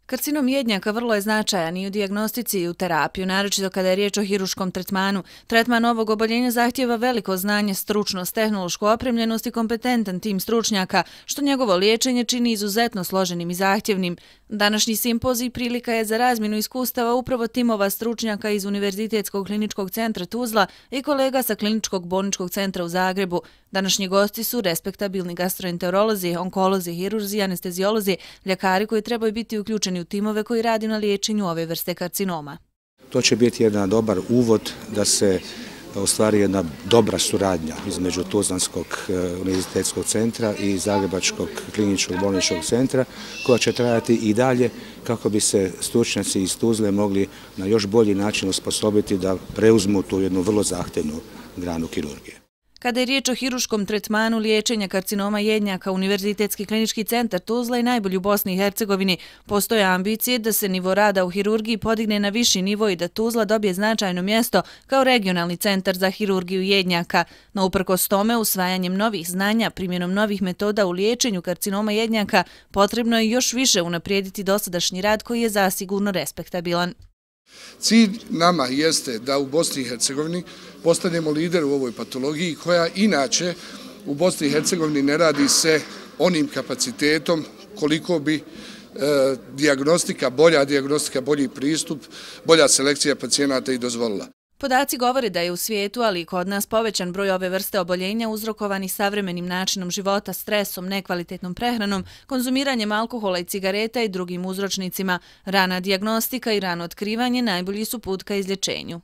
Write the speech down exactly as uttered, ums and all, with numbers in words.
Karcinom jednjaka vrlo je značajan i u dijagnostici i u terapiju, naročito kada je riječ o hiruškom tretmanu. Tretman ovog oboljenja zahtijeva veliko znanje, stručnost, tehnološku opremljenost i kompetentan tim stručnjaka, što njegovo liječenje čini izuzetno složenim i zahtjevnim. Današnji simpozij prilika je za razmjenu iskustava upravo timova stručnjaka iz Univerzitetskog kliničkog centra Tuzla i kolega sa Kliničkog bolničkog centra u Zagrebu. Današnji gosti su respektabilni gastroenterolozi, onkolozi, hirurzi, anesteziolozi, ljekari koji trebaju biti uključeni u timove koji radi na liječenju ove vrste karcinoma. To će biti jedan dobar uvod da se ostvari jedna dobra suradnja između Tuzlanskog univerzitetskog centra i Zagrebačkog kliničkog bolničkog centra, koja će trajati i dalje kako bi se stručnjaci iz Tuzle mogli na još bolji način osposobiti da preuzmu tu jednu vrlo zahtjevnu granu kirurgije. Kada je riječ o hiruškom tretmanu liječenja karcinoma jednjaka, Univerzitetski klinički centar Tuzla je najbolji u Bosni i Hercegovini. Postoje ambicije da se nivo rada u hirurgiji podigne na viši nivo i da Tuzla dobije značajno mjesto kao regionalni centar za hirurgiju jednjaka. No uprkos tome, usvajanjem novih znanja, primjenom novih metoda u liječenju karcinoma jednjaka, potrebno je još više unaprijediti dosadašnji rad koji je zasigurno respektabilan. Cilj nama jeste da u Bosni i Hercegovini postanemo lider u ovoj patologiji koja inače u Bosni i Hercegovini ne radi se onim kapacitetom koliko bi e, dijagnostika, bolja dijagnostika, bolji pristup, bolja selekcija pacijenata i dozvolila. Podaci govore da je u svijetu, ali i kod nas, povećan broj ove vrste oboljenja uzrokovani savremenim načinom života, stresom, nekvalitetnom prehranom, konzumiranjem alkohola i cigareta i drugim uzročnicima. Rana dijagnostika i rano otkrivanje najbolji su put ka izlječenju.